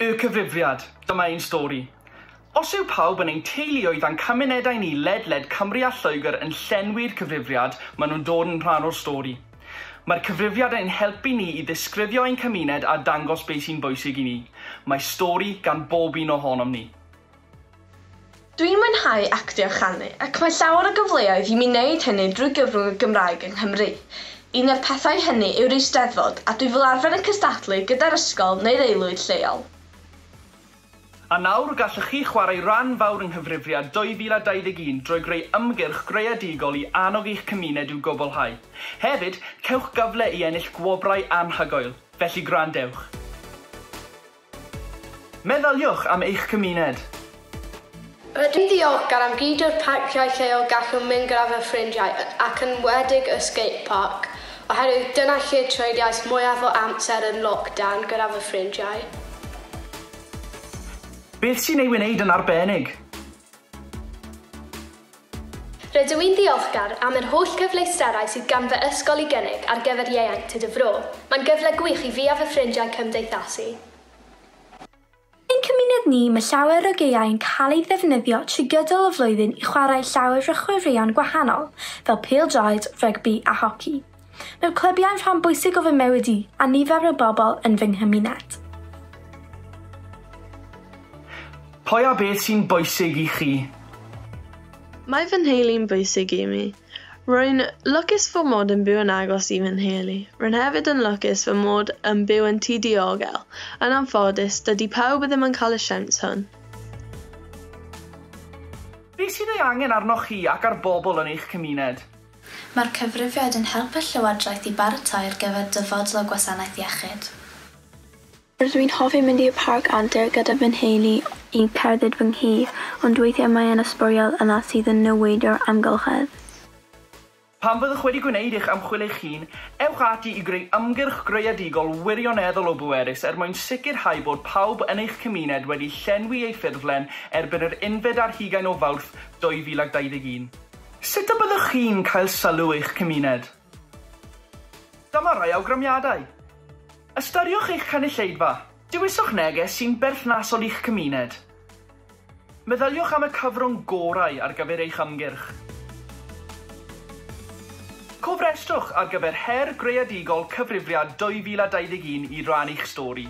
Y cyfrifiad, dyma ein stori. Os yw pawb yn ein teuluoedd a'n cymunedau ni ledled Cymru a Lloegr yn llenwi'r cyfrifiad, maen nhw'n dod yn rhan o'r stori. Mae'r cyfrifiad yn helpu ni i ddisgrifio ein cymuned a dangos beth sy'n bwysig i ni. Mae stori gan bob un ohonom ni. Dwi'n mwynhau actio a chanu, ac mae llawer o gyfleoedd i mi wneud hynny drwy gyfrwng y Gymraeg yng Nghymru. Un o'r pethau hynny yw'r Eisteddfod, a dwi fel arfer yn cystadlu gyda'r ysgol neu'r aelwyd lleol. A nawr gallwch chi chwarae rhan fawr yng nghyfrifiad 2021 drwy greu ymgyrch greadigol i annog eich cymuned i'w gwblhau. Hefyd, cewch gyfle i ennill gwobrau anhygoel, felly gwrandewch. Meddyliwch am eich cymuned. Rydw i'n ddiolchgar am gyd o'r parciau lleol gallwn mynd gyda fy ffrindiau ac yn enwedig y skate park, oherwydd dyna lle treuliais mwyaf o amser yn lockdown gyda fy ffrindiau. Beth sy'n ei wneud yn arbennig? Rydw i'n ddiolchgar am yr holl cyfleusterau sydd gan fy ysgol i gynnig ar gyfer ieuenctid y fro. Mae'n gyfle gwych i fi a fy ffrindiau cymdeithasu. Ein cymuned ni, mae llawer o gaeau'n cael ei ddefnyddio trwy gydol y flwyddyn i chwarae llawer o chwaraeon gwahanol, fel pêl-droed, rygbi a hoci. Mae'r clybiau'n rhan bwysig o fy mywyd i a nifer o bobl yn fy nghymuned. Pwy a beth sy'n bwysig i chi? Mae fy nheulu'n bwysig i mi. Rwy'n lwcus fy mod yn byw yn agos i fy nheulu. Rwy'n hefyd yn lwcus fy mod yn byw yn tŷ diogel. Yn anffodus, dydy pawb ddim yn cael y siawns hwn. Beth sydd ei angen arnoch chi ac ar bobl yn eich cymuned? Mae'r cyfrifiad yn helpu'r llywodraeth i baratoi ar gyfer dyfodol y gwasanaeth iechyd. Rydw i'n hoffi mynd i'r parc antur gyda fy nheulu i cerdded fy nghi, ond weithiau mae yna sbwriel yna sydd yn niweidio'r amgylchedd. Pan fyddwch wedi gwneud eich ymchwil eich hun, ewch ati i greu ymgyrch greadigol wirioneddol o bwerus er mwyn sicrhau bod pawb yn eich cymuned wedi llenwi eu ffurflen erbyn yr 21 o Fawrth 2021. Sut y byddwch chi'n cael sylw eich cymuned? Dyma rai awgrymiadau. Ystyriwch eich cynulleidfa. Dewiswch neges sy'n berthnasol i'ch cymuned. Meddyliwch am y cyfrwng gorau ar gyfer eich ymgyrch. Cofrestrwch ar gyfer Her Greadigol Cyfrifiad 2021 i rannu'ch stori.